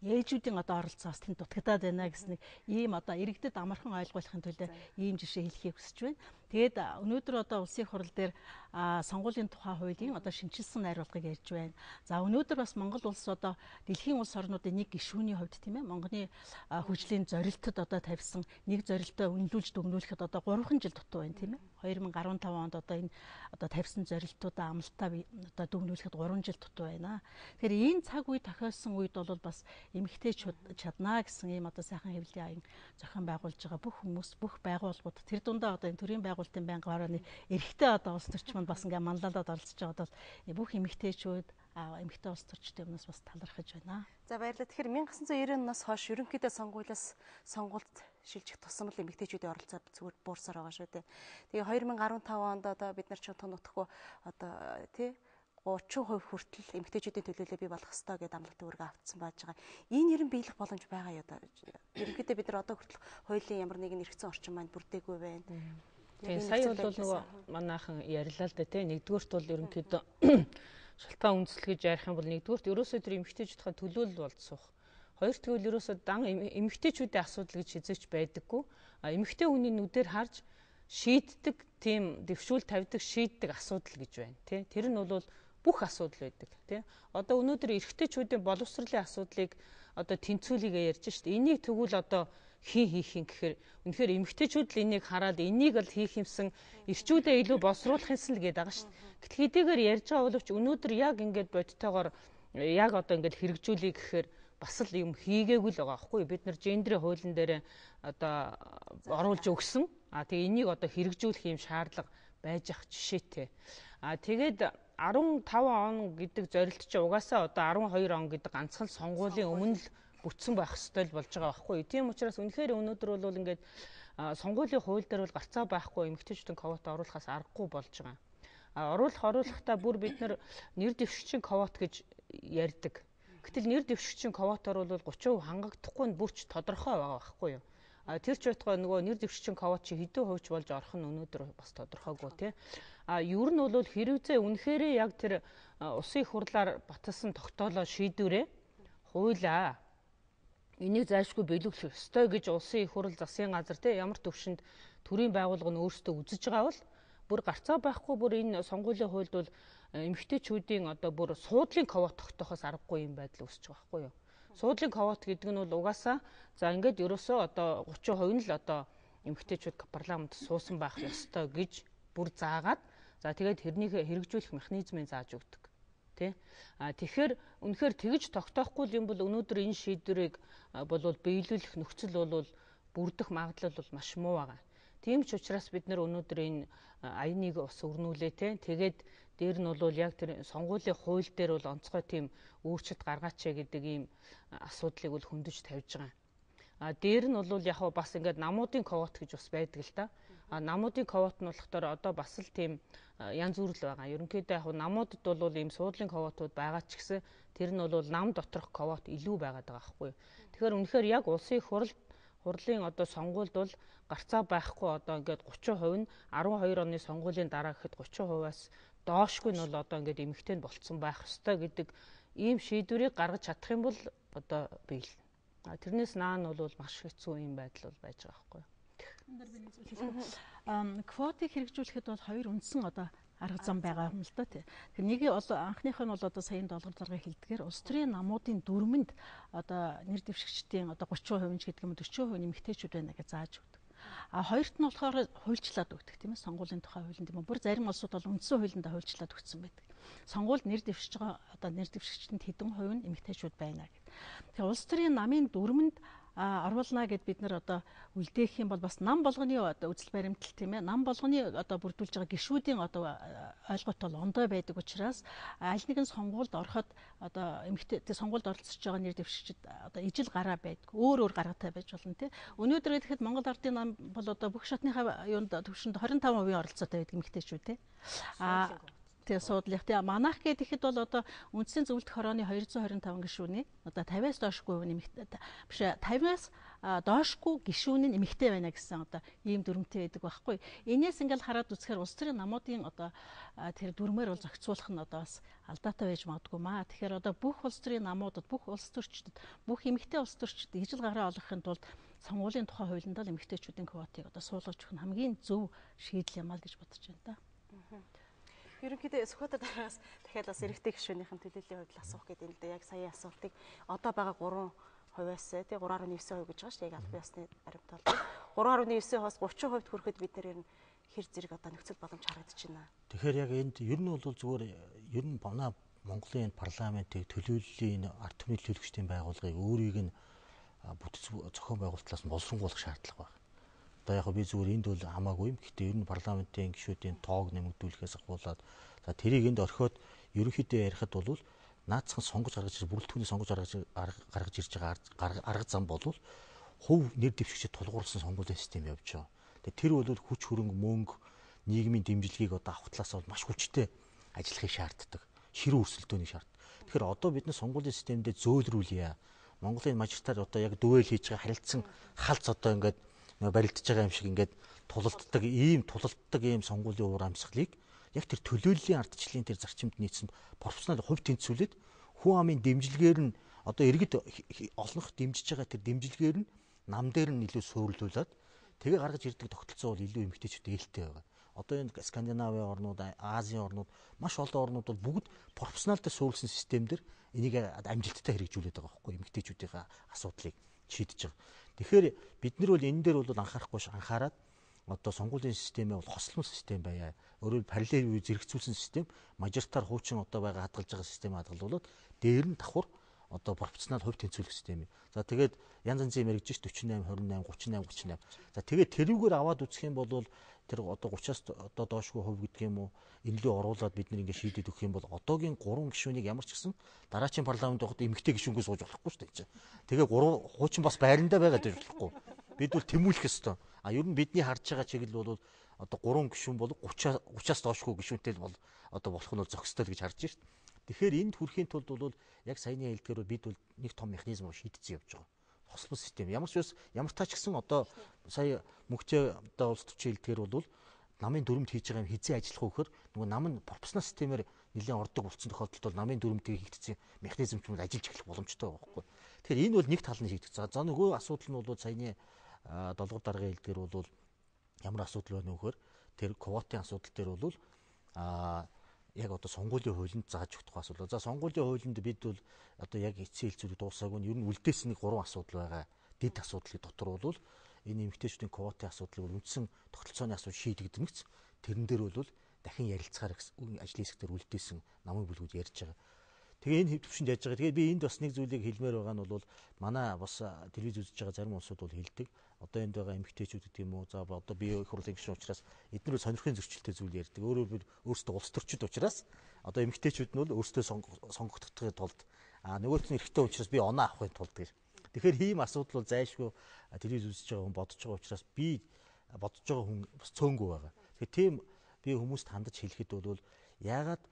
ээжүүдийн одоо оролцоо бас тэнд дутагдаад байна гэсэн нэг ийм одоо иргэдэд амархан ойлгуулахын тулд ийм жишээ хэлхийг хүсэж байна. Тэгээд өнөөдөр одоо улсын хурал дээр сонгуулийн тухай хуулийн одоо шинжилсэн найруулгыг ярьж байна. За өнөөдөр бас Монгол улс одоо дэлхийн улс орнуудын нэг гишүүний хувьд тийм ээ Монголын хөгжлийн зорилтод одоо тавьсан нэг зорилтоо үнэлүүлж дүгнүүлэхэд одоо 3 жил дутуу байна тийм ээ. 2015 онд одоо энэ одоо тавьсан зорилтуудаа амлалтаа одоо дүгнүүлэхэд 3 жил дутуу байна. Тэгэхээр энэ цаг үе тохиолсон үед бол бас эмэгтэйчүүд чаднаа гэсэн ийм одоо сайхан хэвлэлийн аян зохион байгуулж байгаа бүх хүмүүс бүх байгууллагууд тэр дундаа одоо энэ төрийн байгуулалтын байнгын хорооны эрэгтэй одоо улс төрчмөнд бас ингээ манлайлаад оролцож байгаа бол бүх эмэгтэйчүүд эмэгтэй улс төрчдийн өмнөөс бас талархаж байна. За баярлалаа. Тэгэхээр 1990 оноос хойш ерөнхийдөө сонгуульд шилжих тусам л эмэгтэйчүүдийн оролцоо зүгээр буурсаар байгаа шүү дээ. Тэгээ 2015 онд одоо бид нар ч тонотхгүй одоо тий 30% хүртэл эмэгтэйчүүдийн төлөөлөл бий болох ёстой гэдэг амлалт үүргээ автсан байж байгаа. Энэ нэрэн биелэх боломж байгаа юу одоо? Ерөнхийдөө бид нар одоо хүртэл хуулийн ямар нэгэн эргэцэн орчин маань бүрдээгүй байна. Тэгээ сая бол нөгөө манайхан ярьлаа л да тий. Нэгдүгürt бол ерөнхийдөө шалтгаан үндэслэл гэж ярих юм бол нэгдүгürt ерөөсөө тэр эмэгтэйчүүдийн төлөөлөл болд суух. Хоёрт гэвэл ерөөсөө дан эмэгтэйчүүдийн асуудал гэж хязгаарч байдаггүй. Эмэгтэй хүний нүдээр харж шийддэг тийм дэвшүүл тавьдаг шийддэг асуудал гэж байна тий. Тэр нь бол бүх асуудал байдаг тий. Одоо өнөөдөр эрэгтэйчүүдийн боловсролын асуудлыг одоо тэнцвүүлэгээ ярьж шít. Энийг тэгвэл одоо хийх юм гэхээр үнэхээр эмэгтэйчүүд л энийг хараад энийг л хийх юмсан эрчүүдээ илүү босруулах юмсан л гээд байгаа шít. Гэтэл хэдийгээр ярьж байгаа боловч өнөөдөр яг ингээд бодтойгоор яг одоо ингээд хэрэгжүүлэе гэхээр бас л юм хийгээгүй л байгаа байхгүй. Бид нар гендрийн хуулийн дээр одоо оруулж өгсөн. Тэгээ энийг одоо хэрэгжүүлэх юм шаардлага байж ах жишээтэй. Тэгээд 15 он гэдэг зорилт чинь угаасаа одоо 12 он гэдэг ганцхан сонгуулийн өмнө л бүтсэн байх ёстой л болж байгаа байхгүй. Тийм учраас үнэхээр өнөөдөр бол ингээд сонгуулийн хууль дээр бол гарцаа байхгүй эмэгтэйчүүдийн квота оруулахаас аргагүй болж байгаа. Оруулахдаа бүр бид нар нэр дэвшигчийн квот гэж ярьдаг. Гэтэл нэр дэвшигчийн квотоор бол 30% хангагдахгүй нь бүрч тодорхой байгаа байхгүй юу? Тэр ч байтугай нөгөө нэр дэвшигчийн квот чи хэдэн хувьч болж орох нь өнөөдөр бас тодорхойгүй тий. Ер нь бол хэрвээ үнэхэрээ яг тэр улсын их хурлаар баталсан тогтоолоо шийдвэрээ хуулаа энийг зайлшгүй биелүүлэх ёстой гэж улсын их хурл засгийн газар тий ямар төвшөнд төрийн байгууллага нь өөрсдөө үзэж байгаа бол бүр гарцаа байхгүй бүр энэ сонгуулийн хуульд бол эмэгтэйчүүдийн одоо бүр суудлын квот тогтоохоос аргагүй юм байдал үүсэж байгаа байхгүй юу? Суудлын квот гэдэг нь бол угаасаа за ингээд ерөөсөө одоо 30% нь л одоо эмэгтэйчүүд парламент суусан байх ёстой гэж бүр заагаад за тэгээд тэрнийг хэрэгжүүлэх механизмыг зааж өгдөг. Тэ? Тэгэхээр үнэхээр тэгж тогтоохгүй юм бол өнөөдөр энэ шийдвэрийг болвол биелүүлэх нөхцөл бол бүрдэх магадлал бол маш муу байгаа. Тийм ч учраас бид нар өнөөдөр энэ аяныг бас өрнүүлээ те. Тэгээд дээр нь бол яг тэр сонгуулийн хууль дээр бол онцгой тийм өөрчлөлт гаргаач гэдэг ийм асуудлыг бол хөндөж тавьж байгаа. Дээр нь бол яг бас ингээд намуудын квот гэж бас байдаг л да. Намуудын квот нь болохоор одоо бас л тийм янз бүр л байгаа. Ерөнхийдөө яг намуудад бол ийм суудлын квотууд байгаа ч гэсэн тэр нь бол нам доторх квот илүү байгаад байгаа байхгүй. Тэгэхээр үнэхээр яг улсын их хурлын одоо сонгуульд бол гарцаа байхгүй одоо ингээд 30% нь 12 оны сонгуулийн дараа гэхэд 30%-аас доошгүй нь бол одоо ингээд эмэгтэй нь болцсон байх ёстой гэдэг ийм шийдвэрийг гаргаж чадах юм бол одоо биелнэ. Тэрнээс наан бол маш хэцүү юм байдал бол байж байгаа байхгүй. Энд дээр би нэг зүйл хэлэх. Квотыг хэрэгжүүлэхэд бол хоёр үндсэн одоо арга зам байгаа юм л да тий. Тэгэхээр нэг анхных нь бол одоо саяын долгор заргыг хэлдгээр улс төрийн намуудын дүрмэнд одоо нэр дэвшигчдийн одоо 30% гэдэг юм 40% нэмэгтэйчүүд байна гэж зааж өгдөг. Хоёрт нь болохоор хуульчлаад өгдөг тийм ээ сонгуулийн тухай хуулинд юм. Бүр зарим улсууд бол үндсэн хуулиндаа хуульчлаад өгсөн байдаг. Сонгуульд нэр дэвшиж байгаа одоо нэр дэвшигчдэнд хэдэн хувь нь нэмэгтэйчүүд байна гэдэг. Тэгэхээр улс төрийн намын дүрмэнд оруулна гэд бид нар одоо үлдээх юм бол бас нам болгоны одоо үзэл баримтал тийм ээ нам болгоны одоо бүрдүүлж байгаа гишүүдийн одоо ойлголт бол ондой байдаг учраас аль нэгэн сонгуульд ороход одоо эмэгтэй сонгуульд оролцож байгаа нэр дэвшигчид одоо ижил гараа байдаг өөр гараатай байж болно тийм өнөөдөр гэхэд Монгол Ардын нам бол одоо бүх шатныхаа юунд төвшөнд 25% оролцоотой байдаг эмэгтэйчүүд тийм Тэгээ суудлах. Тэгээ манайх гэхэд бол одоо үндсэн зөвлөлт хорооны 225 гишүүний одоо 50-аас доошгүй нэмэгтэй биш 50-аас доошгүй гишүүний нэмэгтэй байна гэсэн одоо ийм дүрмтэй байдаг байхгүй. Энээс ингээл хараад үзэхээр улс төрийн намуудын одоо тэр дүрмээр бол зохицуулах нь одоо бас алдаатай байж магадгүй маа. Тэгэхээр одоо бүх улс төрийн намуудад бүх улс төрчдөд бүх эмэгтэй улс төрчд ижил гараа олгохын тулд сонгуулийн тухай хуулинд л эмэгтэйчүүдийн квотыг одоо суулгаж өгөх нь хамгийн зөв шийдэл юм аа гэж бодож байна да. Ерөнхийдөө Сүхбаатар дараагаас дахиад бас эрэгтэй гишүүнийхэн төлөөллийн хувьд асуух гэдэг юм л да. Яг сая асуултыг одоо байгаа 3%-аас тий 3.9% гэж байгаа шүү дээ. Яг албан ёсны баримтал. 3.9%-аас 30% хүрэхэд бид нэр нь хэр зэрэг одоо нөхцөл боломж харагдаж байна. Тэгэхээр яг энд ер нь бол зүгээр ер нь манай Монголын парламентыг төлөөллийн ард түмний төлөөлөгчдийн байгууллагыг өөрийг нь бүтэц зохион байгуулалтлаас нь боловсронгуулах шаардлага байна. Одоо яг би зүгээр энд бол хамаагүй юм. Гэхдээ ер нь парламентын гишүүдийн тоог нэмэгдүүлэхээс ахуулаад за тэрийг энд орхиод ерөнхийдөө ярихад бол наацхан сонгож гаргаж бүрэлдэхүүний сонгож гаргаж ирж байгаа арга зам бол хувь нэр дэвшигчид тулгуурласан сонгуулийн систем явж байгаа. Тэгээ тэр бол хүч хөрөнгө мөнгө нийгмийн дэмжлэгийг одоо авах талаас бол маш хүчтэй ажиллахыг шаарддаг. Ширүү өрсөлдөөний шаард. Тэгэхээр одоо бид нар сонгуулийн системдээ зөөлрүүлье. Монголын мажоритар одоо яг дүвэл хийж байгаа харилцан халц одоо ингээд барилдаж байгаа юм шиг ингээд тулалддаг ийм сонгуулийн уур амьсгалыг яг тэр төлөөллийн ардчлалын тэр зарчимд нийцсэн профессионал хувь тэнцвүүлээд хүн амын дэмжлэгээр нь одоо иргэд олонх дэмжиж байгаа тэр дэмжлэгээр нь нам дээр нь илүү суйрлуулад тэгээ гаргаж ирдэг тогтолцоо бол илүү эмгтээчүүд ээлтэй байгаа. Одоо энэ Скандинавын орнууд, Азийн орнууд маш олон орнууд бол бүгд профессионалтай суулсан системээр энийг амжилттай хэрэгжүүлээд байгаа байхгүй эмгтээчүүдийн асуудлыг шийдэж байгаа. Тэгэхээр бид нар бол энэ дээр бол анхаарахгүй анхаарад одоо сонгуулийн системээ бол хослол систем байя. Өөрөөр параллел зэрэгцүүлсэн систем, мажоритар хуучин одоо байгаа хадгалж байгаа систем хадгалуулаад дээр нь давхар одоо профессионал хувь тэнцвүүлэх систем. За тэгээд янз янзын юм яригдж 48, 28, 38, 38. За тэгээд тэрүүгээр аваад үзэх юм бол тэр одоо 30-аас одоо доошгүй хувь гэдэг юм уу энэлүү оруулаад бид нэг ингэ шийдэд өгөх юм бол одоогийн 3 гишүүнийг ямар ч гэсэн дараачийн парламент байхад эмэгтэй гишүүнгүй сууж болохгүй шүү дээ. Тэгээ 3 хуучин бас байрандаа байгаад байж болохгүй. Бид бол тэмүүлэх ёстой. А ер нь бидний харж байгаа чиглэл бол одоо 3 гишүүн бол 30-аас доошгүй гишүүнтэй бол одоо болох нь бол зохистой гэж харж шít. Тэгэхээр энд хүрэхийн тулд бол яг саяны хэлдгээр бид бол нэг том механизмыг шийдэж явж байгаа. Хослол систем. Ямар таач гэсэн одоо сая мөнхчөө одоо улс төрчийн хэлдгээр бол намын дүрмд хийж байгаа юм хизээ ажиллах вэ гэхээр нөгөө нам нь профессионал системээр нэлээд ордог болсон тохиолдолд бол намын дүрмд хийгдсэн механизм ч юм ажиллаж эхлэх боломжтой байгаа байхгүй. Тэгэхээр энэ бол нэг тал нь шийдэгдэж байгаа. За нөгөө асуудал нь бол саяны 7 дараагийн хэлдгээр бол ямар асуудал байна вэ гэхээр тэр квотын асуудал дээр бол яг одоо сонгуулийн хуулинд зааж өгөх асуудал. За сонгуулийн хуулинд бид бол одоо яг эцсийн хэлцүүлэг дуусаагүй нь ер нь үлдээс нэг 3 асуудал байгаа. Дэд асуудлын дотор бол энэ эмэгтэйчүүдийн квотын асуудлыг бол үндсэн тогтолцооны асуудал шийдэгдэнэгц. Тэрэн дээр бол дахин ярилцахаар ажлын хэсгээр үлдээсэн намын бүлгүүд ярьж байгаа. Тэгээ энэ төвшөнд яаж байгаа. Тэгээ би энд бас нэг зүйлийг хэлмээр байгаа нь бол манай бас телевиз үзэж байгаа зарим улсууд бол хэлдэг. Одоо энд байгаа эмэгтэйчүүд гэдэг юм уу. За одоо бие их хурлын гишүүн учраас эдгээр сонирхын зөрчилтэй зүйл ярьдаг. Өөрөөр өөрсдөө улс төрчид учраас одоо эмэгтэйчүүд нь бол өөрсдөө сонгогдохын тулд нөгөөт нь эрэгтэй учраас би оноо авахын тулд гэж. Тэгэхээр ийм асуудал бол зайлшгүй телевиз үзэж байгаа хүн бодож байгаа учраас би бодож байгаа хүн бас цөөнгүй байгаа. Тэгэхээр тийм би хүмүүст хандаж хэлэхэд бол яагаад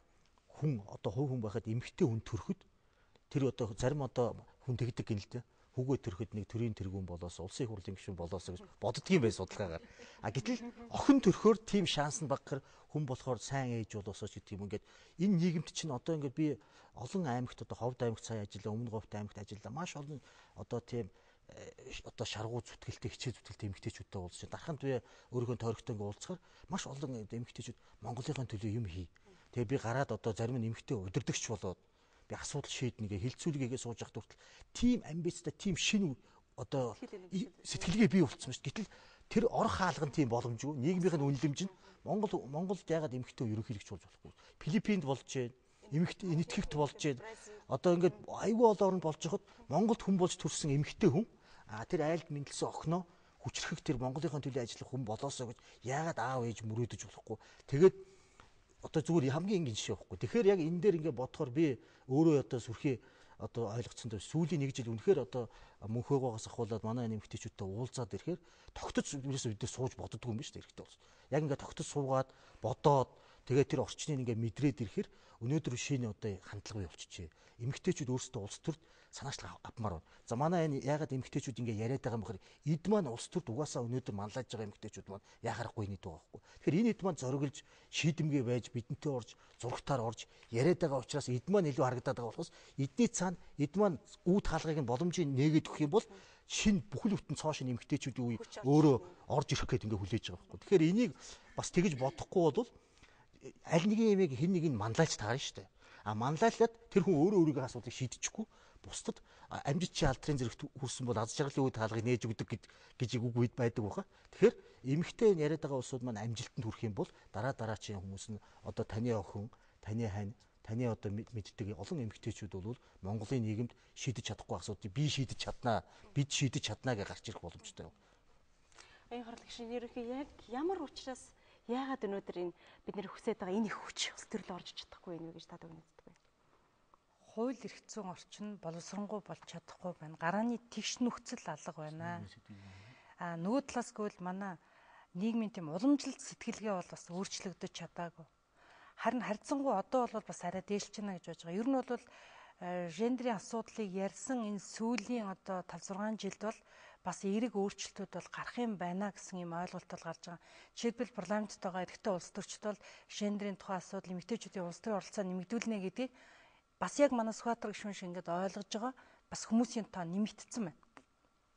хүн одоо хувь хүн байхад эмэгтэй хүн төрөхөд тэр одоо зарим одоо хүн тэгдэг гин л дээ. Хүүгээ төрөхөд нэг төрийн тэргүүн болоос улсын их хурлын гишүүн болоос гэж боддгийм бай судалгаагаар. Гэтэл охин төрөхөөр тийм шанс нь багахаар хүн болохоор сайн ээж болоосоо ч гэдэг юм. Ингээд энэ нийгэмд чинь одоо ингээд би олон аймагт одоо Ховд аймагт сая ажиллаа, Өмнө Говьт аймагт ажиллаа. Маш олон одоо тийм одоо шаргуу зүтгэлтэй хичээ зүтгэлтэй эмэгтэйчүүдтэй уулзсан. Дарханд би өөрийнхөө тойрогтой ингээд уулзахаар маш олон эмэгтэйчүүд Монголын төлөө юм хий. Тэгээ би гараад одоо зарим нь эмэгтэй удирдагч болоод би асуудал шийднэ гэ хилцүүлгээгээ сууж явах хүртэл тим амбицтай тим шин одоо сэтгэлгээ бий болцсон шүү. Гэтэл тэр орох хаалган тийм боломжгүй. Нийгмийн үнэлэмж нь Монголд ягаад эмэгтэй ерөнхийлөгч болж болохгүй. Филиппинд болж байна. Эмэгтэй энэтхэгт болж байна. Одоо ингээд аюул орнд болж хахад Монголд хүн болж төрсэн эмэгтэй хүн тэр айлд мэндэлсэн охиноо хүчрхэг тэр Монголын төлөө ажиллах хүн болоосоо гэж ягаад аав ээж мөрөөдөж болохгүй. Тэгээд одоо зүгээр хамгийн энгийн жишээ байхгүй. Тэгэхээр яг энэ дээр ингээд бодохоор би өөрөө одоо сүрхий одоо ойлгоцсон дээр сүүлийн нэг жил үнэхээр одоо мөнхөөгөөс ахуулаад манай нэмэгтэйчүүдтэй уулзаад ирэхээр тогтож ерөөсөө бид сууж боддгоо юм биш үү хэрэгтэй болсон. Яг ингээд тогтож суугаад бодоод Тэгээд тэр орчныг ингээ мэдрээд ирэхээр өнөөдөр шинэ одоо хандлага болчихжээ. Эмэгтэйчүүд өөрсдөө улс төрд санаачлага авмаар байна. За манай энэ ягаад эмэгтэйчүүд ингээ яриад байгаа юм бэхээр эд маань улс төрд угаасаа өнөөдөр манлайж байгаа эмэгтэйчүүд маань яхаарахгүй нийт байгаа байхгүй. Тэгэхээр энэ эд маань зориглож шийдэмгээ байж бидэнтэй орж зургатаар орж яриад байгаа учраас эд маань илүү харагдаад байгаа болохоос эдний цаана эд маань үүд хаалгыг нь боломжийг нээгээд өгөх юм бол шинэ бүхэл бүтэн цоо шинэ эмэгтэйчүүдийн үе өөрөө орж ирэх гээд ингээ хүлээж байгаа байхгүй. Тэгэхээр энийг бас тэгж бодохгүй бол аль нэгэн юмыг хэн нэг нь манлайлж таарна шүү дээ. Манлайлаад тэр хүн өөрөө өөрийнхөө асуудлыг шийдэчихгүй бусдад амжит чи алдрын зэрэгт хүрсэн бол аз жаргалын үе таалгыг нээж өгдөг гэж үг үед байдаг баха. Тэгэхээр эмэгтэй яриад байгаа улсууд маань амжилтанд хүрэх юм бол дараачийн хүмүүс нь одоо таны охин, таны хань, таны одоо мэддэг олон эмэгтэйчүүд бол Монголын нийгэмд шийдэж чадахгүй асуудыг би шийдэж чаднаа, бид шийдэж чаднаа гэж гарч ирэх боломжтой. Аян харлагч ерөнхий яг ямар учраас яагаад өнөөдөр энэ бид нэр хүсэж байгаа энэ их хүч улс төрөл орж чадахгүй юм гэж та дүгнэждэг вэ? Хууль эрх зүйн орчин боловсронгуй болж чадахгүй байна. Гарааны тэгш нөхцөл алга байна. Нөгөө талаас гэвэл манай нийгмийн тийм уламжлалт сэтгэлгээ бол бас өөрчлөгдөж чадаагүй. Харин харьцангуй одоо бол бас арай дээлч байна гэж бодож байгаа. Ер нь бол гендрийн асуудлыг ярьсан энэ сүүлийн одоо 5-6 жилд бол бас эерэг өөрчлөлтүүд бол гарах юм байна гэсэн юм ойлголт бол гарч байгаа. Жишээлбэл парламентд байгаа эрэгтэй улс төрчид бол гендрийн тухай асуудал эмэгтэйчүүдийн улс төрийн оролцоо нэмэгдүүлнэ гэдгийг бас яг манай Сүхбаатар гишүүн шиг ингээд ойлгож байгаа. Бас хүмүүсийн тоо нэмэгдсэн байна.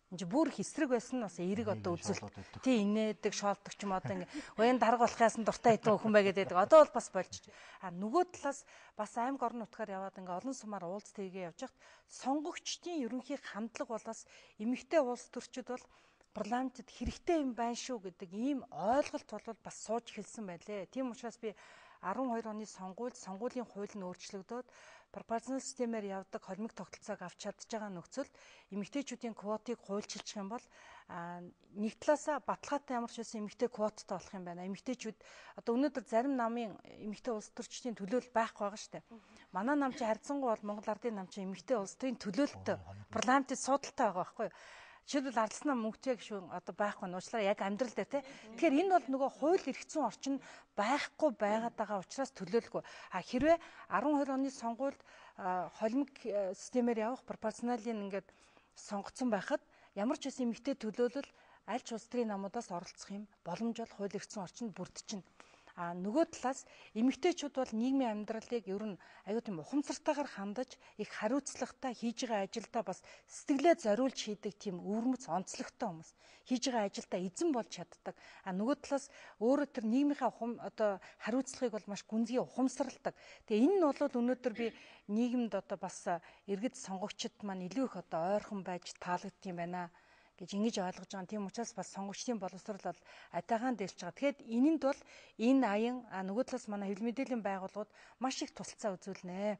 Энд бүр их эсрэг байсан нь бас эерэг одоо үзэл. Тий инээдэг, шоолдог ч юм одоо ингээ уян дарга болох яасан дуртай хэдэн хүн бай гэдэг. Одоо бол бас болж. Нөгөө талаас бас аймаг орон нутгаар яваад ингээ олон сумаар уулз тээгээ явж хахад сонгогчдын ерөнхий хандлага бол бас эмэгтэй улс төрчид бол парламентд хэрэгтэй юм байна шүү гэдэг ийм ойлголт бол бас сууж эхэлсэн байлээ. Тийм учраас би 12 оны сонгуулийн хууль нь өөрчлөгдөөд пропорционал системээр явдаг холимог тогтолцоог авч чадж байгаа нөхцөлд эмэгтэйчүүдийн квотыг хуульчилчих юм бол нэг талаасаа баталгаатай ямар ч байсан эмэгтэй квоттой болох юм байна. Эмэгтэйчүүд одоо өнөөдөр зарим намын эмэгтэй улс төрчдийн төлөөлөл байхгүй байгаа шүү дээ. Манай нам чи харьцангуй бол Монгол Ардын нам чи эмэгтэй улс төрийн төлөөлөлтөй парламентд судалтай байгаа байхгүй юу? Жишээлбэл ардсан нам мөнгөтэй гişүүн одоо байхгүй нь уучлаарай яг амьдрал дээр тий. Тэгэхээр энэ бол нөгөө хууль эрх зүйн орчин байхгүй байгаад байгаа учраас төлөөлөхгүй. Хэрвээ 12 оны сонгуульд холимог системээр явах пропорционалын ингээд сонгогдсон байхад ямар ч байсан эмэгтэй төлөөлөл аль ч улс төрийн намуудаас оролцох юм боломж бол хууль эрх зүйн орчинд бүрдчихнэ. Нөгөө талаас эмэгтэйчүүд бол нийгмийн амьдралыг ер нь аюу тийм ухамсартайгаар хандаж их хариуцлагатай хийж байгаа ажилдаа бас сэтгэлээ зориулж хийдэг тийм өвөрмөц онцлогтой хүмүүс хийж байгаа ажилдаа эзэн болж чаддаг. Нөгөө талаас өөрөө тэр нийгмийнхаа одоо хариуцлагыг бол маш гүнзгий ухамсарладаг. Тэгээ энэ нь бол өнөөдөр би нийгэмд одоо бас иргэд сонгогчид маань илүү их одоо ойрхон байж таалагддаг юм байна гэж ингэж ойлгож байгаа. Тийм учраас бас сонгогчдын боловсрол бол атайхан дээлж байгаа. Тэгэхэд энэнд бол энэ аян нөгөө талаас манай хэвлэл мэдээллийн байгууллагууд маш их тусалцаа үзүүлнэ.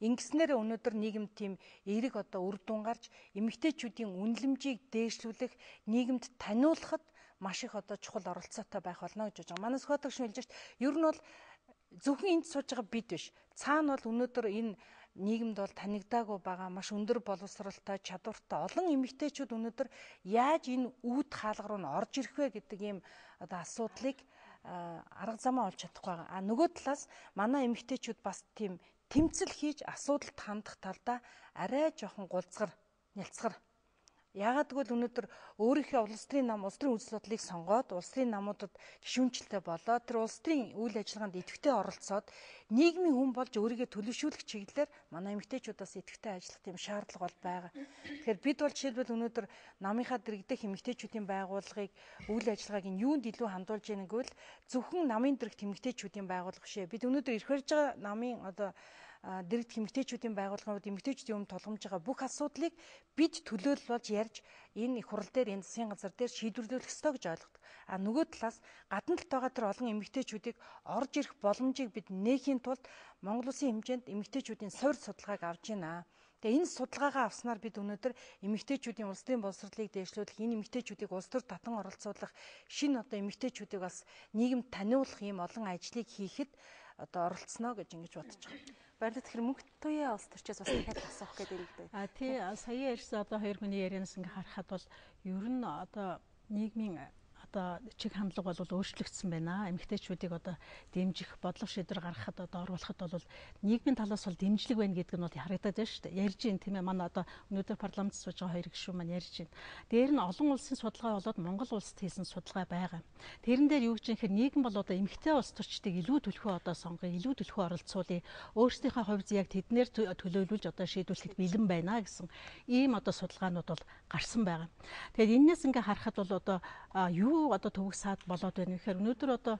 Ингэснээр өнөөдөр нийгэмд тийм эерэг одоо үр дүн гарч эмэгтэйчүүдийн үнэлэмжийг дээшлүүлэх, нийгэмд таниулахад маш их одоо чухал оролцоотой байх болно гэж байгаа. Манай Сүхбаатар гишүүн хэлж байгаа. Ер нь бол зөвхөн энд сууж байгаа бид биш. Цаана бол өнөөдөр энэ нийгэмд бол танигдаагүй байгаа маш өндөр боловсралтай, чадвартай олон эмэгтэйчүүд өнөөдөр яаж энэ үүд хаалга руу н орж ирэх вэ гэдэг ийм одоо асуудлыг арга замаа олж чадахгүй байгаа. Нөгөө талаас манай эмэгтэйчүүд бас тийм тэмцэл хийж асуудалд хандах талдаа арай жоохон гулцгар, нялцгар. Яагаад гэвэл өнөөдөр өөрийнхөө улс төрийн нам, улс төрийн үзэл бодлыг сонгоод, улс төрийн намуудад гишүүнчлэлтэй болоод, тэр улс төрийн үйл ажиллагаанд идэвхтэй оролцоод, нийгмийн хүн болж өөрийгөө төлөвшүүлэх чиглэлээр манай эмэгтэйчүүдээс идэвхтэй ажиллах тийм шаардлага бол байгаа. Тэгэхээр бид бол жишээлбэл өнөөдөр намынхаа дэргэдэх эмэгтэйчүүдийн байгууллагыг үйл ажиллагааг нь юунд илүү хандуулж яах гэвэл зөвхөн намын дэргэдэх эмэгтэйчүүдийн байгууллага бишээ. Бид өнөөдөр ирэх барьж байгаа намын одоо дэргэдэх эмэгтэйчүүдийн байгууллагууд эмэгтэйчүүдийн өмнө тулгамж байгаа бүх асуудлыг бид төлөөлөл болж ярьж энэ их хурал дээр энэ засгийн газар дээр шийдвэрлэх ёстой гэж ойлгодог. Нөгөө талаас гадна талд байгаа тэр олон эмэгтэйчүүдийг орж ирэх боломжийг бид нээхийн тулд Монгол Улсын хэмжээнд эмэгтэйчүүдийн суур судалгааг авж байна. Тэгээ энэ судалгаагаа авснаар бид өнөөдөр эмэгтэйчүүдийн улс төрийн боловсролыг дээшлүүлэх, энэ эмэгтэйчүүдийг улс төр татан оролцуулах, шинэ одоо эмэгтэйчүүдийг бас нийгэмд таниулах ийм олон ажлыг хийхэд одоо оролцсноо гэж ингэж бодож байгаа. Баярлалаа. Тэгэхээр мөнгө туяа улс төрчөөс бас дахиад асуух гэдэг юм дээ. Тий, сая ярьсан одоо хоёр хүний ярианаас ингээ харахад бол ер нь одоо нийгмийн одоо чиг хандлага бол өөрчлөгдсөн байна. Эмэгтэйчүүдийг одоо дэмжих, бодлого шийдвэр гаргахад одоо оруулахад бол нийгмийн талаас бол дэмжлэг байна гэдэг нь бол харагдаад байна шүү дээ. Ярьж ин тийм ээ, манай одоо өнөөдөр парламент сууж байгаа хоёр гишүүн маань ярьж байна. Дээр нь олон улсын судалгаа болоод Монгол улсад хийсэн судалгаа байгаа. Тэрэн дээр юу гэж юм хэрэг нийгэм бол одоо эмэгтэй улс төрчдийг илүү төлхөө одоо сонгоё, илүү төлхөө оролцуулъя. Өөрсдийнхөө хувьд яг тэднэр төлөөлүүлж одоо шийдвэрлэхэд бэлэн байна гэсэн ийм одоо судалгаанууд бол гарсан байгаа. Тэгээд энэс ингээ харахад бол одоо юу одоо төвөг саад болоод байна гэхээр өнөөдөр одоо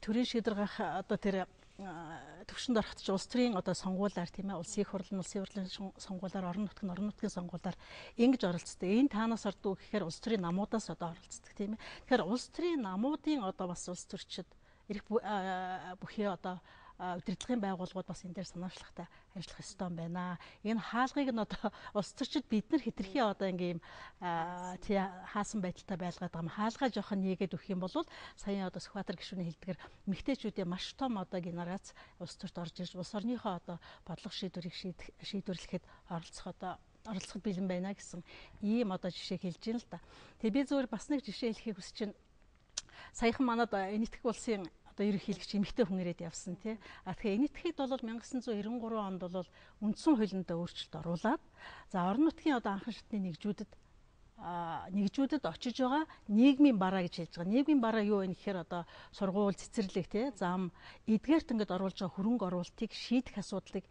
төрийн шийдвэр гаргах одоо тэр төвшөнд ороход ч улс төрийн одоо сонгуулиар тийм ээ, улсын их хурлын сонгуулиар, орон нутгийн сонгуулиар ингэж оролцдог. Энэ таанаас ордог гэхээр улс төрийн намуудаас одоо оролцдог тийм ээ. Тэгэхээр улс төрийн намуудын одоо бас улс төрчид эрх бүхий одоо удирдлагын байгууллагууд бас энэ дээр санаачлахтай ажиллах ёстой юм байна. Энэ хаалгыг нь одоо улс төрчид бид нар хэтэрхий одоо ингээм хаасан байдалтай байлгаад байгаа юм. Хаалгаа жоохон нийгээд өгөх юм бол сая одоо Сүхбаатар гишүүний хэлдгээр эмэгтэйчүүдийн маш том одоо генерац улс төрт орж ирж улс орныхоо одоо бодлого шийдвэрийг шийдвэрлэхэд оролцоход бэлэн байна гэсэн ийм одоо жишээ хэлж байна л да. Тэгээ би зөвхөн бас нэг жишээ хэлхийг хүсэж байна. Саяхан манад Энэтхэг улсын одоо ерөнхийлөгч эмэгтэй хүн ирээд явсан тий. Тэгэхээр Энэтхэгэд бол 1993 онд бол үндсэн хуулиндаа өөрчлөлт оруулаад за орон нутгийн одоо анхан шатны нэгжүүдэд очиж байгаа нийгмийн бараа гэж хэлж байгаа. Нийгмийн бараа юу вэ гэхээр одоо сургууль, цэцэрлэг тий, зам, эдгээрт ингээд оруулж байгаа хөрөнгө оруулалтыг шийдэх асуудлыг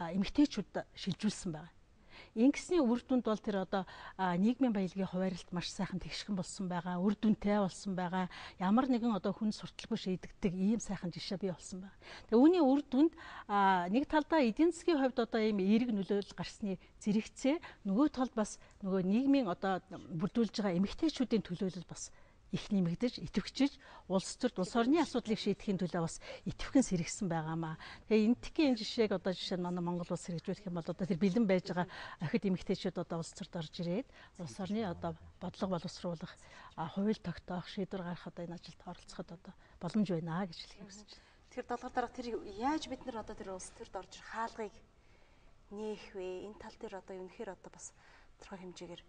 эмэгтэйчүүд шилжүүлсэн байна. Ингэсний үр дүнд бол тэр одоо нийгмийн баялагын хуваарлалт маш сайхан тэгшхэн болсон байгаа, үр дүнтэй болсон байгаа. Ямар нэгэн одоо хүн сурталгүй шийдэгдэг ийм сайхан жишээ бий болсон байна. Тэгээ үүний үр дүнд нэг талдаа эдийн засгийн хувьд одоо ийм эерэг нөлөөлөл гарсны зэрэгцээ, нөгөө талд бас нөгөө нийгмийн одоо бүрдүүлж байгаа эмэгтэйчүүдийн төлөөлөл бас их нэмэгдэж, идэвхжиж, улс төрд улс орны асуудлыг шийдэхин төлөө бас идэвхэн сэргсэн байгаамаа. Тэгээ энэтхгийн энэ жишээг одоо жишээ нь манай Монгол улс хэрэгжүүлэх юм бол одоо тэр бэлэн байж байгаа охид эмэгтэйчүүд одоо улс төрд орж ирээд улс орны одоо бодлого боловсруулах, хууль тогтоох, шийдвэр гаргах одоо энэ ажилд оролцоход одоо боломж байна гэж хэлхийг хүсэж байна. Тэр долгор дарга тэр яаж бид нар одоо тэр улс төрд орж ирэх хаалгыг нээх вэ? Энэ тал дээр одоо үнэхээр одоо бас тодорхой хэмжээгээр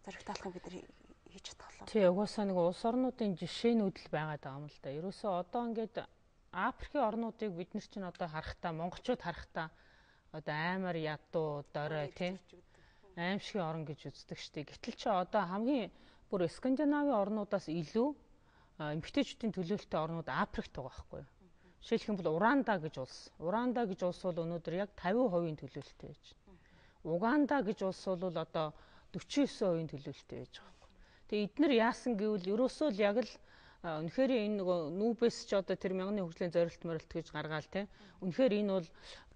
зоригтаалах бид нар хийж чадхлаа. Тий, угаасаа нэг улс орнуудын жишээнүүд л байгаад байгаа юм л да. Ерөөсөө одоо ингээд Африкийн орнуудыг бид нар чинь одоо харахтаа, монголчууд харахтаа одоо аймаар ядуу, дорой тий, аимшигын орн гэж үздэг штеп. Гэтэл чи одоо хамгийн бүр Скандинавын орнуудаас илүү эмэгтэйчүүдийн төлөөлөлтөй орнууд Африкт байгаа байхгүй юу? Жишээлх юм бол Уранда гэж улс. Уранда гэж улс бол өнөөдөр яг 50% төлөөлөлтөй байж байна. Уганда гэж улс бол одоо 49% төлөөлөлтөй байж байгаа. Тэгээ эдгээр яасан гэвэл ерөөсөө л яг л үнэхээр энэ нөгөө нүүбэс ч одоо тэр мянганы хөгжлийн зорилт морилт гэж гаргаал те. Үнэхээр энэ бол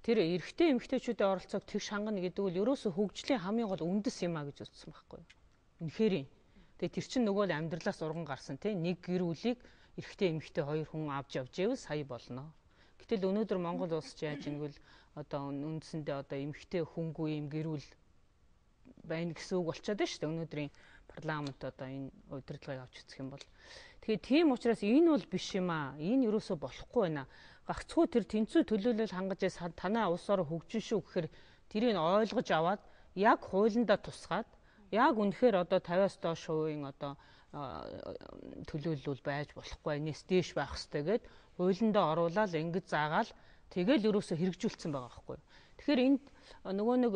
тэр эрэгтэй эмэгтэйчүүдийн оролцоог тэгш хангана гэдэг нь ерөөсөө хөгжлийн хамгийн гол үндэс юм а гэж үзсэн байхгүй юу. Үнэхээр. Тэгээ тэр чинь нөгөө л амьдралаас урган гарсан те. Нэг гэр бүлийг эрэгтэй эмэгтэй хоёр хүн авч явж ивэл сая болно. Гэтэл өнөөдөр Монгол улс ч яаж ингэвэл одоо үндсэндээ одоо эмэгтэй хүнгүй юм гэр бүл байна гэсэн үг болчиход байна шүү дээ. Өнөөдрийн парламент одоо энэ удирдлагыг авч үзэх юм бол тэгэхээр тийм учраас энэ бол биш юм аа. Энэ юусоо болохгүй байна. Гагцхүү тэр тэнцүү төлөөлөл хангаж танаа улс орон хөгжин шүү гэхээр тэрийг ойлгож аваад яг хуулиндаа тусгаад яг үнэхээр одоо 50-аас доош хувийн одоо төлөөлөл байж болохгүй. Энэс дээш байх хэрэгтэй гэд хуулиндаа оруулаад ингэж заагаал тэгэл юусоо хэрэгжүүлсэн байгаа байхгүй. Тэгэхээр энд нөгөө нэг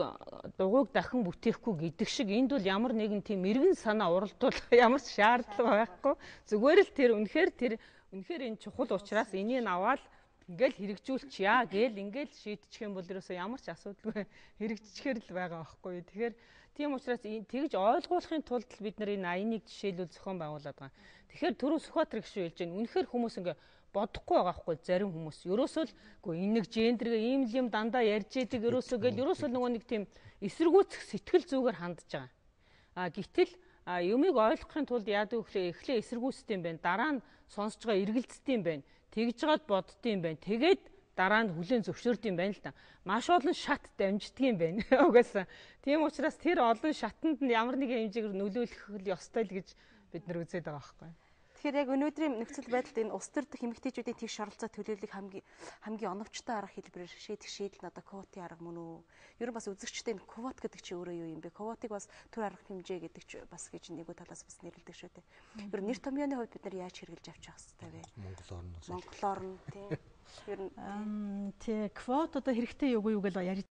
дугуйг дахин бүтээхгүй гэдэг шиг энд бол ямар нэгэн тийм эргэн санаа уралдуулах ямар ч шаардлага байхгүй. Зүгээр л тэр үнэхээр энэ чухал учраас энийг аваад ингээл хэрэгжүүлчихъя гээл ингээл шийдчих юм бол ерөөсөө ямар ч асуудалгүй хэрэгжчихээр л байгаа байхгүй. Тэгэхээр тийм учраас тэгж ойлгуулахын тулд бид нар энэ 81 жишээлүүл зохион байгуулад байгаа. Тэгэхээр түрүү Сүхбаатар гишүүн хэлж байна. Үнэхээр хүмүүс ингээ бодохгүй байгаа хгүй зарим хүмүүс. Ерөөсөө л үгүй энэ нэг гендергээ ийм л юм дандаа ярьж идэг ерөөсөө гэл ерөөсөө нөгөө нэг тийм эсэргүүцэх сэтгэл зүгээр хандж байгаа. Гэтэл юмыг ойлгохын тулд яадаг вэ? Эхлээ эсэргүүцдэг юм байна. Дараа нь сонсож байгаа эргэлздэг юм байна. Тэгж жагаад боддог юм байна. Тэгээд дараа нь хүлээн зөвшөөрдөг юм байна л та. Маш олон шат дамждаг юм байна. Угаасаа. Тийм учраас тэр олон шатанд нь ямар нэгэн хэмжээгээр нөлөөлөх ёстой л гэж бид нар үзээд байгаа байхгүй. Тэгэхээр яг өнөөдрийн нөхцөл байдалд энэ улс төр дэх эмэгтэйчүүдийн тэгш оролцоо төлөөллийг хамгийн оновчтой арга хэлбэрээр шийдэх шийдэл нь одоо квотын арга мөн үү? Ер нь бас үзэгчтэй энэ квот гэдэг чинь өөрөө юу юм бэ? Квотыг бас төр арга хэмжээ гэдэг ч бас гэж нэггүй талаас бас нэрлэдэг шүү дээ. Ер нь нэр томьёоны хувьд бид нар яаж хэрэгжилж авчих хэвээр вэ? Монголоор нь тийм. Ер нь тий квот одоо хэрэгтэй юу гэж ярьж